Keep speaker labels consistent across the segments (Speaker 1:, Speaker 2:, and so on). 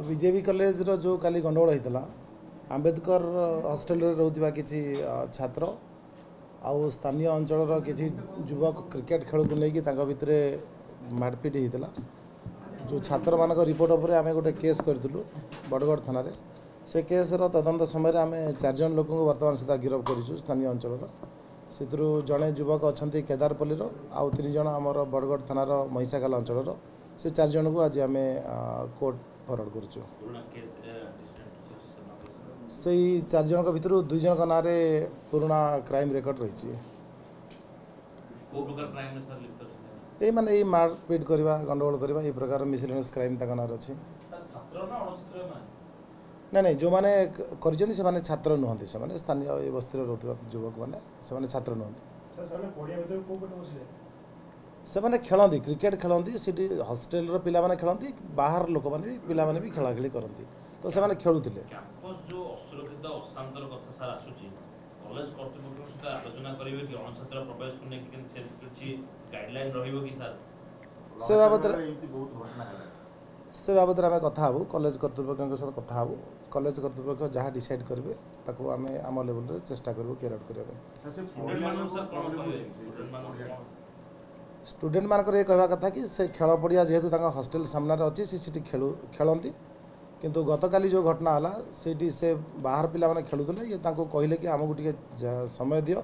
Speaker 1: BJB କଲେଜର ଯେଉଁ କାଲି ଗଣ୍ଡଗୋଳ ହେଇଥିଲା, ଆମ୍ବେଦକର ହଷ୍ଟେଲରେ ରହୁଥିବା କିଛି ଛାତ୍ର ଆଉ ସ୍ଥାନୀୟ ଅଞ୍ଚଳର କିଛି ଯୁବକ କ୍ରିକେଟ ଖେଳକୁ ନେଇକି ତାଙ୍କ ଭିତରେ ମାଡ଼ପିଟ ହେଇଥିଲା। ଯେଉଁ ଛାତ୍ରମାନଙ୍କ ରିପୋର୍ଟ ଉପରେ ଆମେ ଗୋଟେ କେସ୍ କରିଥିଲୁ ବଡ଼ଗଡ଼ ଥାନାରେ। ସେ କେସ୍ର ତଦନ୍ତ ସମୟରେ ଆମେ 4 ଜଣ ଲୋକଙ୍କୁ ବର୍ତ୍ତମାନ ସୁଦ୍ଧା ଗିରଫ କରିଛୁ ସ୍ଥାନୀୟ ଅଞ୍ଚଳର। ସେଥିରୁ ଜଣେ ଯୁବକ ଅଛନ୍ତି କେଦାରପଲ୍ଲୀର, ଆଉ 3 ଜଣ ଆମର ବଡ଼ଗଡ଼ ଥାନାର ମହିଷାଖାଲ ଅଞ୍ଚଳର। ସେ 4 ଜଣଙ୍କୁ ଆଜି ଆମେ କୋର୍ଟ ଫରୱାର୍ଡ଼ କରୁଛୁ। ସେଇ 4 ଜଣଙ୍କ ଭିତରୁ 2 ଜଣଙ୍କ ନାଁରେ ପୁରୁଣା କ୍ରାଇମ୍ ରେକର୍ଡ଼ ରହିଛି। ଏଇ ମାନେ ଏଇ ମାରପିଟ କରିବା, ଗଣ୍ଡଗୋଳ କରିବା, ଏଇ ପ୍ରକାର ମିସଲେନିୟସ୍ କ୍ରାଇମ୍ ତାଙ୍କ ନାଁରେ ଅଛି। ନାଇଁ ନାଇଁ, ଯେଉଁମାନେ କରିଛନ୍ତି ସେମାନେ ଛାତ୍ର ନୁହନ୍ତି। ସେମାନେ ସ୍ଥାନୀୟ ଏ ବସ୍ତିରେ ରହୁଥିବା ଯୁବକମାନେ, ସେମାନେ ଛାତ୍ର ନୁହନ୍ତି। ସେମାନେ ଖେଳନ୍ତି, କ୍ରିକେଟ ଖେଳନ୍ତି। ସେଠି ହଷ୍ଟେଲର ପିଲାମାନେ ଖେଳନ୍ତି, ବାହାର ଲୋକମାନେ ବି, ପିଲାମାନେ ବି ଖେଳାଖେଳି କରନ୍ତି। ତ ସେମାନେ ଖେଳୁଥିଲେ।
Speaker 2: କ୍ୟାମ୍ପସ ଯୋଉ ଅସୁରକ୍ଷିତ, ଅଶାନ୍ତର କଥା ସାର୍ ଆସୁଛି, କଲେଜ କର୍ତ୍ତୃପକ୍ଷଙ୍କ ସହିତ ଆଲୋଚନା କରିବେ କି ଅଣଛାତ୍ର ପ୍ରବେଶକୁ ନେଇକି? କେମିତି ସେ କିଛି ଗାଇଡଲାଇନ ରହିବ କି ସାର୍?
Speaker 1: ସେ ବାବଦରେ ଆମେ କଥା ହେବୁ, କଲେଜ କର୍ତ୍ତୃପକ୍ଷଙ୍କ ସହିତ କଥା ହେବୁ। କଲେଜ କର୍ତ୍ତୃପକ୍ଷ ଯାହା ଡିସାଇଡ୍ କରିବେ, ତାକୁ ଆମେ ଆମ ଲେଭେଲରେ ଚେଷ୍ଟା କରିବୁ କ୍ୟାରି ଆଉଟ୍ କରିବା ପାଇଁ।
Speaker 2: ଷ୍ଟୁଡେଣ୍ଟମାନଙ୍କୁ ସାର୍ କ'ଣ କହିବେ? ଷ୍ଟୁଡେଣ୍ଟମାନଙ୍କୁ କ'ଣ?
Speaker 1: ଷ୍ଟୁଡେଣ୍ଟମାନଙ୍କର ଏ କହିବା କଥା କି ସେ ଖେଳ ପଡ଼ିଆ ଯେହେତୁ ତାଙ୍କ ହଷ୍ଟେଲ ସାମ୍ନାରେ ଅଛି, ସେ ସେଠି ଖେଳନ୍ତି। କିନ୍ତୁ ଗତକାଲି ଯେଉଁ ଘଟଣା ହେଲା, ସେଇଠି ସେ ବାହାର ପିଲାମାନେ ଖେଳୁଥିଲେ। ଇଏ ତାଙ୍କୁ କହିଲେ କି ଆମକୁ ଟିକେ ସମୟ ଦିଅ।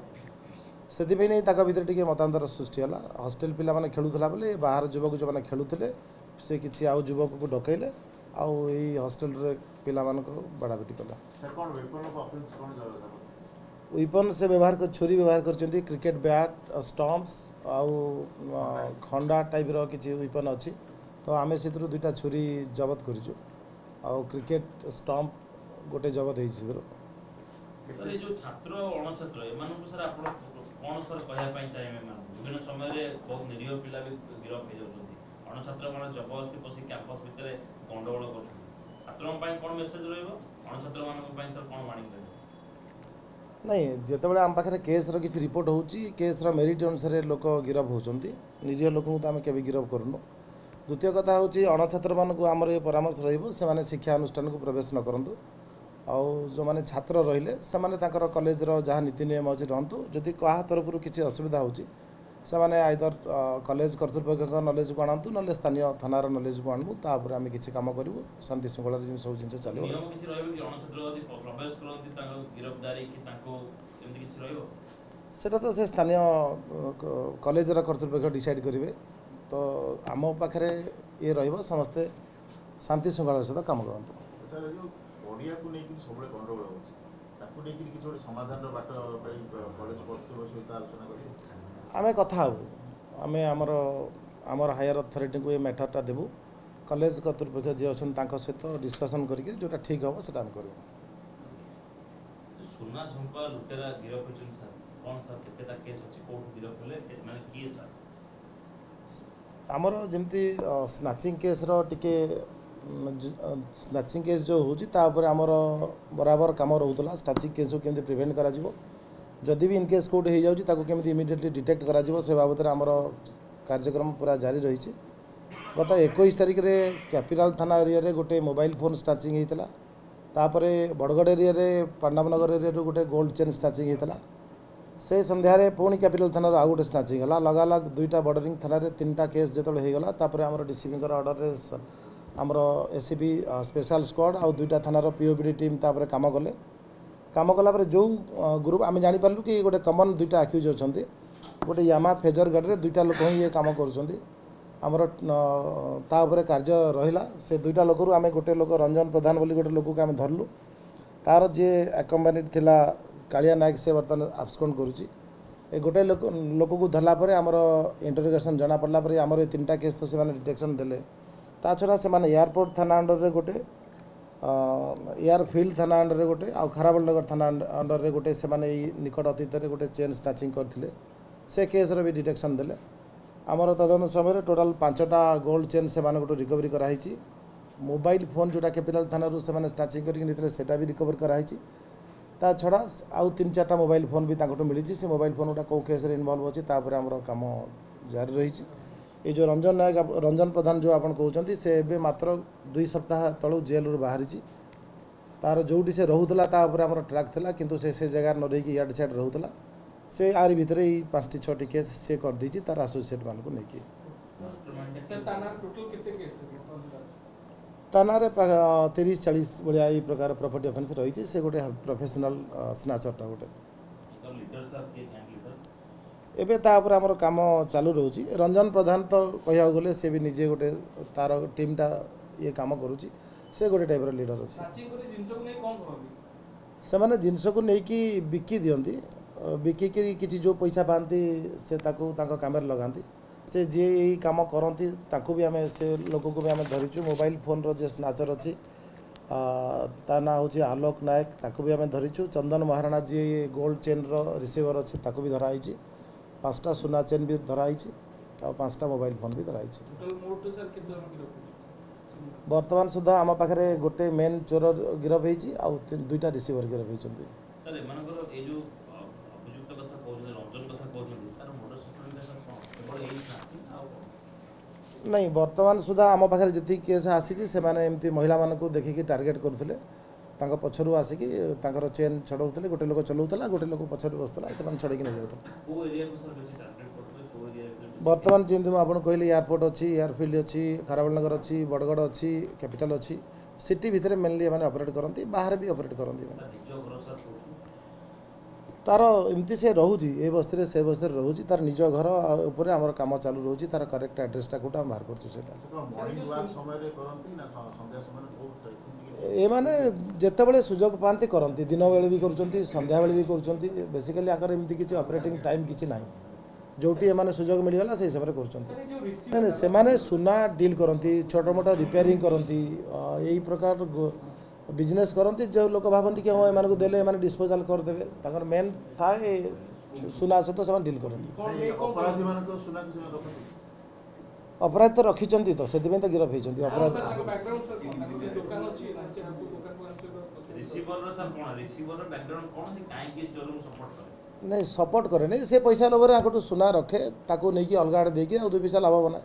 Speaker 1: ସେଥିପାଇଁ ନେଇ ତାଙ୍କ ଭିତରେ ଟିକେ ମତାନ୍ତର ସୃଷ୍ଟି ହେଲା। ହଷ୍ଟେଲ ପିଲାମାନେ ଖେଳୁଥିଲା ବୋଲି ବାହାର ଯୁବକ ଯେଉଁମାନେ ଖେଳୁଥିଲେ, ସେ କିଛି ଆଉ ଯୁବକକୁ ଡକେଇଲେ ଆଉ ଏଇ ହଷ୍ଟେଲରେ ପିଲାମାନଙ୍କୁ ବାଡ଼ାପିଟି କଲେ। ୱିପନ୍ ସେ ବ୍ୟବହାର କରି ଛୁରୀ ବ୍ୟବହାର କରିଛନ୍ତି, କ୍ରିକେଟ ବ୍ୟାଟ୍, ଷ୍ଟମ୍ପସ୍ ଆଉ ଖଣ୍ଡା ଟାଇପ୍ର କିଛି ୱିପନ୍ ଅଛି। ତ ଆମେ ସେଥିରୁ 2ଟା ଛୁରୀ ଜବତ କରିଛୁ ଆଉ କ୍ରିକେଟ ଷ୍ଟମ୍ପ ଗୋଟେ ଜବତ ହେଇଛି ସେଥିରୁ।
Speaker 2: ସାର୍, ଏଇ ଯୋଉ ଛାତ୍ର ଆଉ ଅଣଛାତ୍ର ଏମାନଙ୍କୁ ସାର୍ ଆପଣ କ'ଣ ସାର୍ କହିବା ପାଇଁ ଚାହିଁବେ ଏମାନଙ୍କୁ? ବିଭିନ୍ନ ସମୟରେ ବହୁତ ନିରୀହ ପିଲା ବି ଗିରଫ ହେଇଯାଉଛନ୍ତି। ଅଣଛାତ୍ର ମାନେ ଜବରଦସ୍ତି ପଶି କ୍ୟାମ୍ପସ ଭିତରେ ଗଣ୍ଡଗୋଳ କରୁଛନ୍ତି। ଛାତ୍ରଙ୍କ ପାଇଁ କ'ଣ ମେସେଜ ରହିବ? ଅଣଛାତ୍ର ମାନଙ୍କ ପାଇଁ ସାର୍ କ'ଣ ବାଣୀ ରହିବ?
Speaker 1: ନାଇଁ, ଯେତେବେଳେ ଆମ ପାଖରେ କେସ୍ର କିଛି ରିପୋର୍ଟ ହେଉଛି, କେସ୍ର ମେରିଟ୍ ଅନୁସାରେ ଲୋକ ଗିରଫ ହେଉଛନ୍ତି। ନିରୀହ ଲୋକଙ୍କୁ ତ ଆମେ କେବେ ଗିରଫ କରୁନୁ। ଦ୍ୱିତୀୟ କଥା ହେଉଛି, ଅଣଛାତ୍ରମାନଙ୍କୁ ଆମର ଏ ପରାମର୍ଶ ରହିବ, ସେମାନେ ଶିକ୍ଷା ଅନୁଷ୍ଠାନକୁ ପ୍ରବେଶ ନ କରନ୍ତୁ। ଆଉ ଯେଉଁମାନେ ଛାତ୍ର ରହିଲେ, ସେମାନେ ତାଙ୍କର କଲେଜର ଯାହା ନୀତି ନିୟମ ଅଛି ରହନ୍ତୁ। ଯଦି କାହା ତରଫରୁ କିଛି ଅସୁବିଧା ହେଉଛି, ସେମାନେ ଆଇଦର କଲେଜ କର୍ତ୍ତୃପକ୍ଷଙ୍କ ନଲେଜକୁ ଆଣନ୍ତୁ, ନହେଲେ ସ୍ଥାନୀୟ ଥାନାର ନଲେଜକୁ ଆଣନ୍ତୁ। ତାପରେ ଆମେ କିଛି କାମ କରିବୁ। ଶାନ୍ତି ଶୃଙ୍ଖଳାରେ ଯେମିତି ସବୁ ଜିନିଷ ଚାଲିବ।
Speaker 2: ନିୟମ କିଛି ରହିବ କି? ଅଣଛାତ୍ର ଯଦି ପ୍ରବେଶ କରନ୍ତି, ତାଙ୍କ ଗିରଫଦାରୀ କି ତାଙ୍କୁ ଏମିତି କିଛି ରହିବ?
Speaker 1: ସେଟା ତ ସେ ସ୍ଥାନୀୟ କଲେଜର କର୍ତ୍ତୃପକ୍ଷ ଡିସାଇଡ଼୍ କରିବେ। ତ ଆମ ପାଖରେ ଇଏ ରହିବ, ସମସ୍ତେ ଶାନ୍ତି ଶୃଙ୍ଖଳାର ସହିତ କାମ କରନ୍ତୁ।
Speaker 3: ସାର୍, ଏ ଯୋଉ ପଡ଼ିଆକୁ ନେଇକିରି ସବୁବେଳେ ଗଣ୍ଡଗୋଳ ହେଉଛି, ତାକୁ ନେଇକିରି କିଛି ଗୋଟେ ସମାଧାନର ବାଟ ପାଇଁ କଲେଜ କର୍ତ୍ତୃପକ୍ଷ ସହିତ ଆଲୋଚନା କରିବେ?
Speaker 1: ଆମେ କଥା ହେବୁ। ଆମେ ଆମର ଆମର ହାୟର ଅଥରିଟିଙ୍କୁ ଏ ମ୍ୟାଟରଟା ଦେବୁ। କଲେଜ କର୍ତ୍ତୃପକ୍ଷ ଯିଏ ଅଛନ୍ତି, ତାଙ୍କ ସହିତ ଡିସ୍କସନ୍ କରିକି ଯେଉଁଟା ଠିକ୍ ହେବ, ସେଟା ଆମେ କରିବୁ।
Speaker 2: ସୁନା ଝୁମ୍ପା ଲୁଟେରା ଗିରଫ ହୋଇଛନ୍ତି ସାର୍, କ'ଣ ସାର୍, କେତେଟା କେସ୍ ଅଛି, କୋଉଠୁ ଗିରଫ ହେଲେ, ମାନେ କିଏ ସାର୍?
Speaker 1: ଆମର ଯେମିତି ସ୍ନାଚିଂ କେସ୍ର ଟିକେ, ସ୍ନାଚିଂ କେସ୍ ଯେଉଁ ହେଉଛି, ତା ଉପରେ ଆମର ବରାବର କାମ ରହୁଥିଲା। ସ୍ନାଚିଂ କେସ୍କୁ କେମିତି ପ୍ରିଭେଣ୍ଟ କରାଯିବ, ଯଦି ବି ଇନ୍ କେସ୍ କେଉଁଠି ହେଇଯାଉଛି, ତାକୁ କେମିତି ଇମିଡ଼ିଏଟଲି ଡିଟେକ୍ଟ କରାଯିବ, ସେ ବାବଦରେ ଆମର କାର୍ଯ୍ୟକ୍ରମ ପୁରା ଜାରି ରହିଛି। ଗତ 21 ତାରିଖରେ କ୍ୟାପିଟାଲ ଥାନା ଏରିଆରେ ଗୋଟେ ମୋବାଇଲ ଫୋନ୍ ସ୍ନାଚିଂ ହେଇଥିଲା। ତାପରେ ବଡ଼ଗଡ଼ ଏରିଆରେ, ପାଣ୍ଡବନଗର ଏରିଆରୁ ଗୋଟେ ଗୋଲ୍ଡ ଚେନ୍ ସ୍ନାଚିଂ ହେଇଥିଲା। ସେ ସନ୍ଧ୍ୟାରେ ପୁଣି କ୍ୟାପିଟାଲ ଥାନାରୁ ଆଉ ଗୋଟେ ସ୍ନାଚିଂ ହେଲା। ଲଗାଲଗ 2ଟା ବର୍ଡରିଂ ଥାନାରେ 3ଟା କେସ୍ ଯେତେବେଳେ ହେଇଗଲା, ତାପରେ ଆମର ଡିସିପିଙ୍କର ଅର୍ଡ଼ରରେ ଆମର ଏସିପି ସ୍ପେଶାଲ ସ୍କ୍ୱାଡ଼ ଆଉ 2ଟା ଥାନାର ପିଓବିଡି ଟିମ୍ ତାପରେ କାମ କଲେ। କାମ କଲା ପରେ ଯେଉଁ ଗ୍ରୁପ୍ ଆମେ ଜାଣିପାରିଲୁ କି ଗୋଟେ କମନ୍ 2ଟା ଆକ୍ୟୁଜ୍ ଅଛନ୍ତି। ଗୋଟେ ୟାମା ଫେଜର ଗାଡ଼ିରେ 2ଟା ଲୋକ ହିଁ ଇଏ କାମ କରୁଛନ୍ତି। ଆମର ତା ଉପରେ କାର୍ଯ୍ୟ ରହିଲା। ସେ 2ଟା ଲୋକରୁ ଆମେ ଗୋଟେ ଲୋକ, ରଞ୍ଜନ ପ୍ରଧାନ ବୋଲି ଗୋଟେ ଲୋକକୁ ଆମେ ଧରିଲୁ। ତାର ଯିଏ ଆକମ୍ପାନିଡ୍ ଥିଲା କାଳିଆ ନାୟକ, ସେ ବର୍ତ୍ତମାନ ଆବସ୍କଣ୍ଡ କରୁଛି। ଏ ଗୋଟେ ଲୋକକୁ ଧରିଲା ପରେ ଆମର ଇଣ୍ଟରୋଗେସନ୍ ଜଣାପଡ଼ିଲା ପରେ ଆମର ଏ 3ଟା କେସ୍ ତ ସେମାନେ ଡିଟେକ୍ସନ୍ ଦେଲେ। ତା ଛଡ଼ା ସେମାନେ ଏୟାରପୋର୍ଟ ଥାନା ଅଣ୍ଡରରେ ଗୋଟେ, ଏୟାରଫିଲ୍ଡ ଥାନା ଅଣ୍ଡରରେ ଗୋଟେ ଆଉ ଖାରବେଳନଗର ଥାନା ଅଣ୍ଡରରେ ଗୋଟେ ସେମାନେ ଏଇ ନିକଟ ଅତୀତରେ ଗୋଟେ ଚେନ୍ ସ୍ନାଚିଂ କରିଥିଲେ। ସେ କେସ୍ର ବି ଡିଟେକ୍ସନ୍ ଦେଲେ। ଆମର ତଦନ୍ତ ସମୟରେ ଟୋଟାଲ୍ 5ଟା ଗୋଲ୍ଡ ଚେନ୍ ସେମାନଙ୍କଠୁ ରିକଭରି କରାହେଇଛି। ମୋବାଇଲ ଫୋନ୍ ଯେଉଁଟା କ୍ୟାପିଟାଲ ଥାନାରୁ ସେମାନେ ସ୍ନାଚିଂ କରିକି ନେଇଥିଲେ, ସେଇଟା ବି ରିକଭରି କରାହେଇଛି। ତା ଛଡ଼ା ଆଉ 3 4ଟା ମୋବାଇଲ ଫୋନ୍ ବି ତାଙ୍କଠୁ ମିଳିଛି। ସେ ମୋବାଇଲ ଫୋନ୍ ଗୁଡ଼ା କେଉଁ କେସ୍ରେ ଇନଭଲ୍ଭ ଅଛି, ତାପରେ ଆମର କାମ ଜାରି ରହିଛି। ଏ ଯେଉଁ ରଞ୍ଜନ ନାୟକ, ରଞ୍ଜନ ପ୍ରଧାନ ଯେଉଁ ଆପଣ କହୁଛନ୍ତି, ସେ ଏବେ ମାତ୍ର 2 ସପ୍ତାହ ତଳୁ ଜେଲରୁ ବାହାରିଛି। ତାର ଯେଉଁଠି ସେ ରହୁଥିଲା ତା ଉପରେ ଆମର ଟ୍ରାକ୍ ଥିଲା, କିନ୍ତୁ ସେ ସେ ଜାଗାରେ ନ ରହିକି ଇଆଡ଼େ ସିଆଡ଼େ ରହୁଥିଲା। ସେ ଆରି ଭିତରେ ଏଇ 5ଟି 6ଟି କେସ୍ ସେ କରିଦେଇଛି ତାର ଆସୋସିଏଟ୍ମାନଙ୍କୁ ନେଇକି। ତା ନାଁରେ 30-40 ଭଳିଆ ଏଇ ପ୍ରକାର ପ୍ରପର୍ଟି ଅଫେନ୍ସ ରହିଛି। ସେ ଗୋଟେ ପ୍ରଫେସନାଲ ସ୍ନାଚରଟା ଗୋଟେ। ଏବେ ତା ଉପରେ ଆମର କାମ ଚାଲୁ ରହୁଛି। ରଞ୍ଜନ ପ୍ରଧାନ ତ କହିବାକୁ ଗଲେ ସେ ବି ନିଜେ ଗୋଟେ ତାର ଟିମ୍ଟା ଇଏ କାମ କରୁଛି, ସେ ଗୋଟେ ଟାଇପ୍ର ଲିଡର ଅଛି। ସେମାନେ ଜିନିଷକୁ ନେଇକି ବିକି ଦିଅନ୍ତି, ବିକିକିରି କିଛି ଯେଉଁ ପଇସା ପାଆନ୍ତି ସେ ତାକୁ ତାଙ୍କ କାମରେ ଲଗାନ୍ତି। ସେ ଯିଏ ଏଇ କାମ କରନ୍ତି ତାକୁ ବି ଆମେ, ସେ ଲୋକକୁ ବି ଆମେ ଧରିଛୁ। ମୋବାଇଲ ଫୋନ୍ର ଯିଏ ସ୍ନାଚର ଅଛି ତା ନାଁ ହେଉଛି ଆଲୋକ ନାୟକ, ତାକୁ ବି ଆମେ ଧରିଛୁ। ଚନ୍ଦନ ମହାରଣା ଯିଏ ଗୋଲ୍ଡ ଚେନ୍ର ରିସିଭର ଅଛି ତାକୁ ବି ଧରାହେଇଛି। 5ଟା ସୁନା ଚେନ୍ ବି ଧରାହେଇଛି ଆଉ 5ଟା ମୋବାଇଲ ଫୋନ୍ ବି ଧରାହେଇଛି। ବର୍ତ୍ତମାନ ସୁଦ୍ଧା ଆମ ପାଖରେ ଗୋଟେ ମେନ୍ ଚୋର ଗିରଫ ହେଇଛି ଆଉ 2ଟା ରିସିଭର ଗିରଫ ହେଇଛନ୍ତି। ନାଇଁ, ବର୍ତ୍ତମାନ ସୁଦ୍ଧା ଆମ ପାଖରେ ଯେତିକି କେସ୍ ଆସିଛି ସେମାନେ ଏମିତି ମହିଳାମାନଙ୍କୁ ଦେଖିକି ଟାର୍ଗେଟ୍ କରୁଥିଲେ, ତାଙ୍କ ପଛରୁ ଆସିକି ତାଙ୍କର ଚେନ୍ ଛଡ଼ଉଥିଲେ। ଗୋଟେ ଲୋକ ଚଲାଉଥିଲା, ଗୋଟେ ଲୋକ ପଛରେ ବସୁଥିଲା, ସେମାନେ ଛଡ଼େଇକି ନେଇଯାଉଥିଲେ। ବର୍ତ୍ତମାନ ଯେମିତି ମୁଁ ଆପଣଙ୍କୁ କହିଲି, ଏୟାରପୋର୍ଟ ଅଛି, ଏୟାରଫିଲ୍ଡ ଅଛି, ଖାରବେଳ ନଗର ଅଛି, ବଡ଼ଗଡ଼ ଅଛି, କ୍ୟାପିଟାଲ ଅଛି। ସିଟି ଭିତରେ ମେନଲି ଏମାନେ ଅପରେଟ୍ କରନ୍ତି, ବାହାରେ ବି ଅପରେଟ୍ କରନ୍ତି। ତାର ଏମିତି ସେ ରହୁଛି ଏ ବସ୍ତିରେ ସେ ବସ୍ତିରେ ରହୁଛି, ତାର ନିଜ ଘର ଉପରେ ଆମର କାମ ଚାଲୁ ରହୁଛି। ତାର କରେକ୍ଟ ଆଡ୍ରେସଟା କୋଉଟା ଆମେ ବାହାର କରୁଛୁ। ସେଇଟା ଏମାନେ ଯେତେବେଳେ ସୁଯୋଗ ପାଆନ୍ତି କରନ୍ତି, ଦିନବେଳେ ବି କରୁଛନ୍ତି, ସନ୍ଧ୍ୟାବେଳେ ବି କରୁଛନ୍ତି। ବେସିକାଲି ଆଙ୍କର ଏମିତି କିଛି ଅପରେଟିଂ ଟାଇମ୍ କିଛି ନାହିଁ, ଯେଉଁଠି ଏମାନେ ସୁଯୋଗ ମିଳିଗଲା ସେଇ ହିସାବରେ କରୁଛନ୍ତି। ନାଇଁ ନାଇଁ, ସେମାନେ ସୁନା ଡିଲ୍ କରନ୍ତି, ଛୋଟ ମୋଟ ରିପେୟାରିଂ କରନ୍ତି, ଏଇ ପ୍ରକାର ବିଜନେସ୍ କରନ୍ତି। ଯେଉଁ ଲୋକ ଭାବନ୍ତି କି ହଁ ଏମାନଙ୍କୁ ଦେଲେ ଏମାନେ ଡିସ୍ପୋଜାଲ୍ କରିଦେବେ, ତାଙ୍କର ମେନ୍ ଥାଏ ସୁନା ସହିତ ସେମାନେ ଡିଲ୍ କରନ୍ତି। ଅପରାଧ ତ ରଖିଛନ୍ତି ତ ସେଥିପାଇଁ ତ ଗିରଫ ହେଇଛନ୍ତି। ଅପରାଧ ନାଇଁ, ସପୋର୍ଟ କରେନି, ସେ ପଇସା ଲୋଭରେ ଆଙ୍କଠୁ ସୁନା ରଖେ, ତାକୁ ନେଇକି ଅଲଗା ଆଡ଼େ ଦେଇକି ଆଉ 2 ପଇସା ଲାଭ ବନାଏ।